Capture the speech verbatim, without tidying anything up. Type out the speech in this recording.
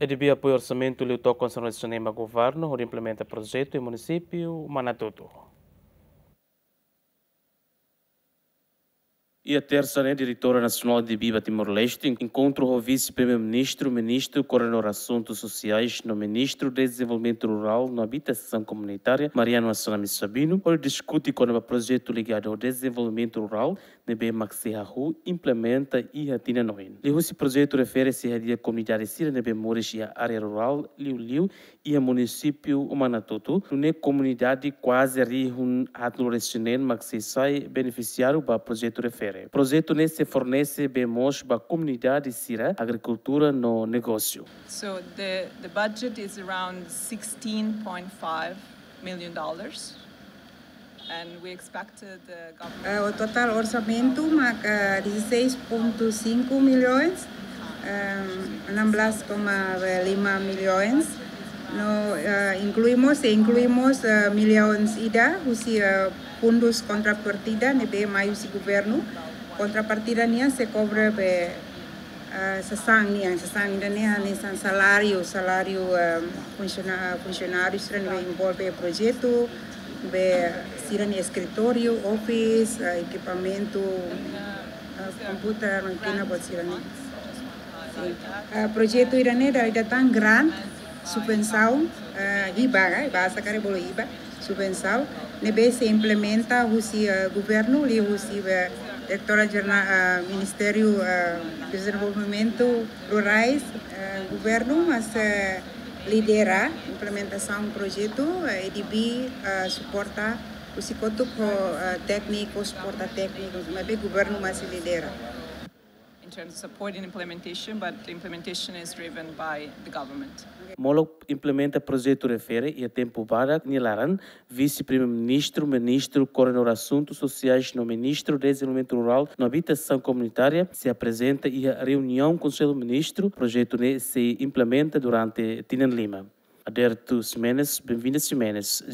E D B apoia orsamentu liu tok konsellu nasionál ba governu hodi implementa projetu iha munisípiu Manatutu. Iha tersa ne'e, Diretora Nasionál E D B ba Timor-Leste enkontru ho Vise-Primeiru-Ministru, Ministru Koordenadór Asuntus Sosiais no Ministru Dezenvolvimentu Rurál no Abitasaun Komunitária, Mariano Assanami Sabino, hodi diskute kona-ba projetu ligadu ho dezenvolvimentu rurál ne'ebé mak sei hahú implementa iha tinan oin. Liuhusi projetu refere sei hadi'a komunidade sira ne'ebé moris iha área rurál liuliu iha munisípiu Manatutu, nune'e komunidade kuaze rihun haatnulu-resin-neen mak sei sai benefisiáriu ba projetu refere. Projetu ne'e sei fornese bee moos ba komunidade sira, agrikultura no negósiu. So the, the budget is around sixteen point five million dollars. And we expected the government... Eh, o totál orsamentu maka dezasseis ponto cinco milhões, ehm, enam belas koma lima milhões. No, eh, inklui mós, inklui mós, eh, milhões ida husi, eh, fundus kontrapartida ne'ebé mai husi governu. Kontrapartida nian sei kobre be, eh, sasán nian, sasán ida-ne'e hanesan saláriu, saláriu, eh, funsiona-, funsionáriu sira ne'ebé envolve projetu, be sira-nia eskritóriu, office, eh, ekipamentu, eh, komputer, mákina, buat sira-ne'e. Sin. Eh, projetu ida-ne'e dala ida tan grant, subvensaun, eh, hiba, eh, bahasa karik bolu hiba, subvensaun ne'ebé sei implementa husi, eh, governu, liuhusi, eh, Diretora Jerna-, eh, Ministériu, eh, Dezenvolvimentu Rurais, eh, governu mak sei lidera implementasaun projetu, eh, E D B, eh, suporta husi kotuk ho, eh, tékniku, suporta tékniku, maibé governu mak sei lidera. In terms of supporting implementation, but the implementation is driven by the government. Molok implementa projetu refere iha tempu badak nia laran, Vise-Primeiru-Ministru, Ministru Koordenadór Asuntus Sosiais no Ministru Dezenvolvimentu Rurál no Abitasaun Komunitária sei aprezenta iha reuniaun Konsellu Ministru. Projetu ne'e sei implementa durante tinan lima. Aderto Ximenes, Benvinda Ximenes,